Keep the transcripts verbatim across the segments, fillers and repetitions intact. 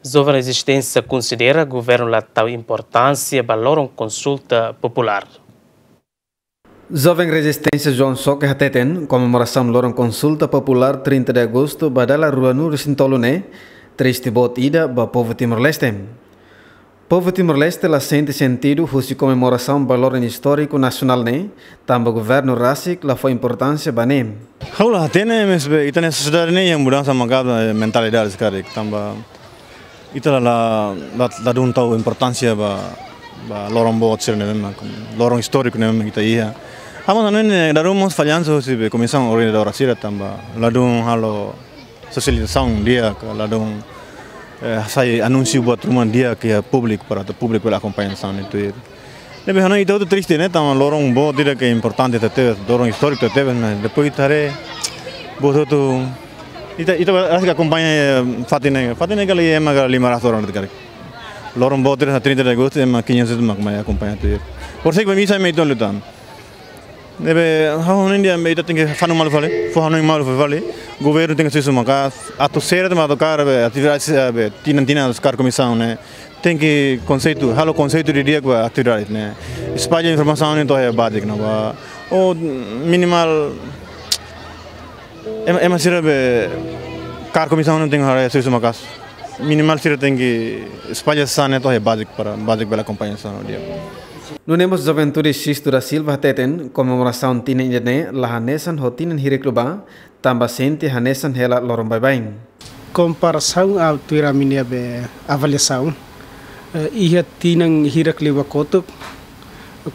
Joven Rezisténsia konsidera governu la tau importánsia ba loron konsulta populár. Joven Rezisténsia João Soke hateten, komemorasaun loron konsulta populár trinta de agostu ba dala ruanulu-resin-tolu ne'e triste boot ida ba povu Timor-Leste. Povu Timor-Leste la sente sentidu husi komemorasaun ba loron istóriku nasionál ne'e, tanba governu rasik la fó importánsia ba ne'e. Ha'u la hatene, maibé ita-nia sosiedade ne'e iha mudansa maka'as, eh, mentalidade sira karik, tanba ita la, la, la, ladún tau importánsia ba, ba loron boot sira ne'ebé mak, loron istóriku ne'ebé mak ita iha. Ha'u hanoin ne'e dala ruma mós fallansa husi be komisaun organizadora sira tanba ladún halo sosializasaun di'ak, ladún, eh, sai anúnsiu buat ruma di'ak iha públiku para atu públiku bele akompaña hanesan ne'e tuir. Ne'ebé hanoin ita hotu triste ne'e, tanba loron boot ida ke importante tebes, loron istóriku tebes, maibé depois ita haree buat hotu, ita, ita rasik akompaña, eh, fatin ne'e, fatin ne'e kala ema kala lima ratus orang de'it karik. Loron boot ida trinta de agostu ema quinhentos mak mai akompaña tuir. Por sei ke bisa me itu lutan. Ne'ebé, ha'u hanoin dehan ita tenke fó hanoin malu fali, fó hanoin malu fali. Governu tenke susu maka'as, atu seret mak atu kaer be atividade, eh, be tinan-tinan atu kaer komisaun ne'e. Tenke konseitu, halo konseitu didi'ak ba atividade ne'e. Espalla informasaun ne'e to'o iha baze ne'ebá. Ou minimal, ema, ema sira be kaer komisaun ne'e tenke haree susu maka'as. Minimal sira tenke espalla hanesan ne'e to'o iha baze para baze bele akompaña hanesan ne'e di'ak. Nune'e mós juventude Sisto da Silva hateten, komemorasaun tinan ida-ne'e la hanesan ho tinan hirak liubá, tanba sente hanesan hela loron baibain. Komparasaun ba tuir ami-nia be avaliasaun, eh, iha tinan hirak liubá kotuk,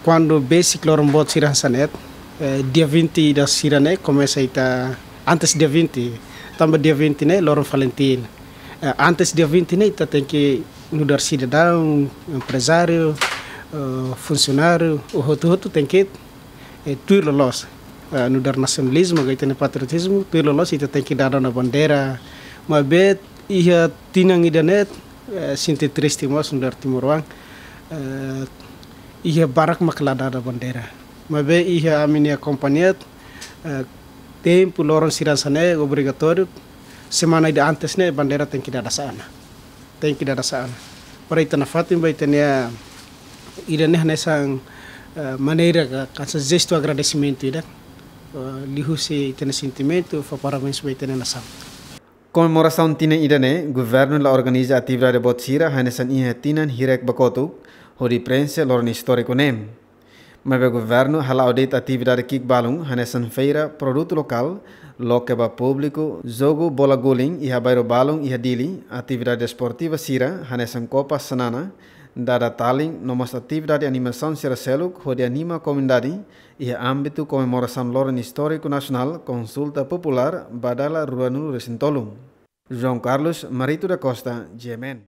kuandu besik loron boot sira hanesan ne'e, eh, dia vinte ida sira-ne'e komesa ita antes dia vinte, tanba dia vinte ne'e loron Valentin. Eh, antes dia vinte ne'e ita tenke nu'udar sidadaun, emprezáriu, eh, funsionáriu, hotu-hotu tenke, eh, tuir loloos. Eh, nu'udar nasionalizmu, ka ita-nia patriotizmu, tuir loloos ita tenke dada ona bandeira. Maibé iha tinan ida-ne'e, eh, sente triste mós nu'udar timoroan. Eh, iha barak mak la dada bandeira. Maibé iha ami-nia kompañia, eh, tempu loron sira hanesan ne'e obrigatóriu, semana ida antes ne'e bandeira tenke dada sa'e ona. Tenke dada sa'e ona. Para ita nafatin ba ita-nia, ida-ne'e hanesan, eh, maneira ka, ka hanesan jestu agradesimentu ida. Eh, liuhusi ita-nia sentimentu, fó parabéns ba ita-nia nasaun. Komemorasaun tinan ida-ne'e, governu la organiza atividade boot sira hanesan iha tinan hirak ba kotuk, hodi prenxe loron istóriku ne'e. Maibé governu hala'o de'it atividade ki'ik balun, hanesan feira produtu lokál, loke ba públiku, jogu bola guling iha bairru balun iha Dili, atividade desportiva sira, hanesan Kopa Xanana, dada talin, no mós atividade animasaun sira seluk, hodi anima komunidade, iha ámbitu komemorasaun loron istóriku nasionál, konsulta populár, ba dala ruanulu-resin-tolu. João Carlos Marito da Costa, G M N.